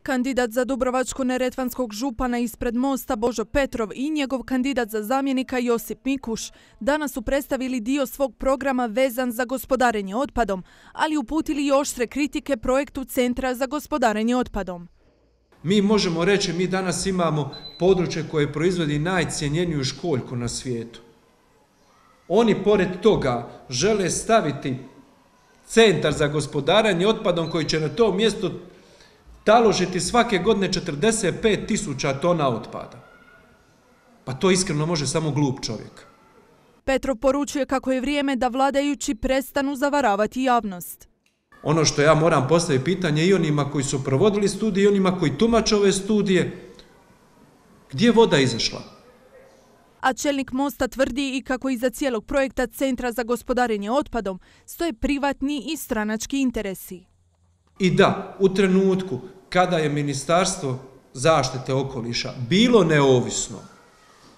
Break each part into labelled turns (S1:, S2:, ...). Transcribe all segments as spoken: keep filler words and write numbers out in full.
S1: Kandidat za dubrovačko-neretvanskog župana ispred Mosta Božo Petrov i njegov kandidat za zamjenika Josip Mikuš danas su predstavili dio svog programa vezan za gospodarenje otpadom, ali uputili i oštre kritike projektu Centra za gospodarenje otpadom.
S2: Mi možemo reći, mi danas imamo područje koje proizvodi najcjenjeniju školjku na svijetu. Oni pored toga žele staviti Centar za gospodarenje otpadom koji će na to mjesto taložiti svake godine četrdeset pet tisuća tona otpada. Pa to iskreno može samo glup čovjek.
S1: Petrov poručuje kako je vrijeme da vladajući prestanu zavaravati javnost.
S2: Ono što ja moram postaviti pitanje i onima koji su provodili studije i onima koji tumače ove studije, gdje je voda izašla?
S1: A čelnik Mosta tvrdi i kako iza cijelog projekta Centra za gospodarenje otpadom stoje privatni i stranački interesi.
S2: I da, u trenutku kada je Ministarstvo zaštite okoliša bilo neovisno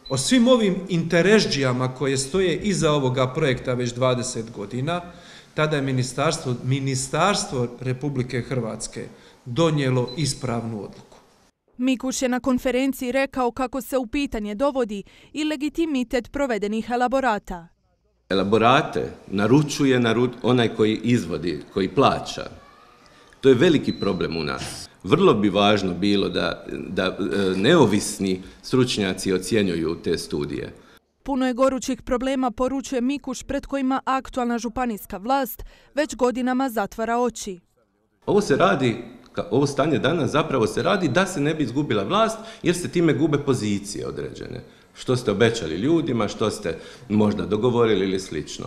S2: o svim ovim interesđijama koje stoje iza ovoga projekta već dvadeset godina, tada je Ministarstvo, Ministarstvo Republike Hrvatske donijelo ispravnu odluku.
S1: Mikuš je na konferenciji rekao kako se u pitanje dovodi i legitimitet provedenih elaborata.
S3: Elaborate naručuje naru... onaj koji izvodi, koji plaća. To je veliki problem u nas. Vrlo bi važno bilo da, da neovisni stručnjaci ocjenjuju te studije.
S1: Puno je gorućih problema, poručuje Mikuš, pred kojima aktualna županijska vlast već godinama zatvara oči.
S3: Ovo se radi, ovo stanje danas zapravo se radi da se ne bi izgubila vlast, jer se time gube pozicije određene. Što ste obećali ljudima, što ste možda dogovorili ili slično.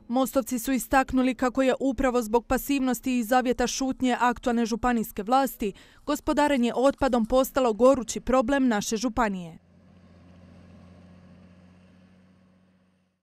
S1: Mostovci su istaknuli kako je upravo zbog pasivnosti i zavjeta šutnje aktualne županijske vlasti gospodarenje otpadom postalo gorući problem naše županije.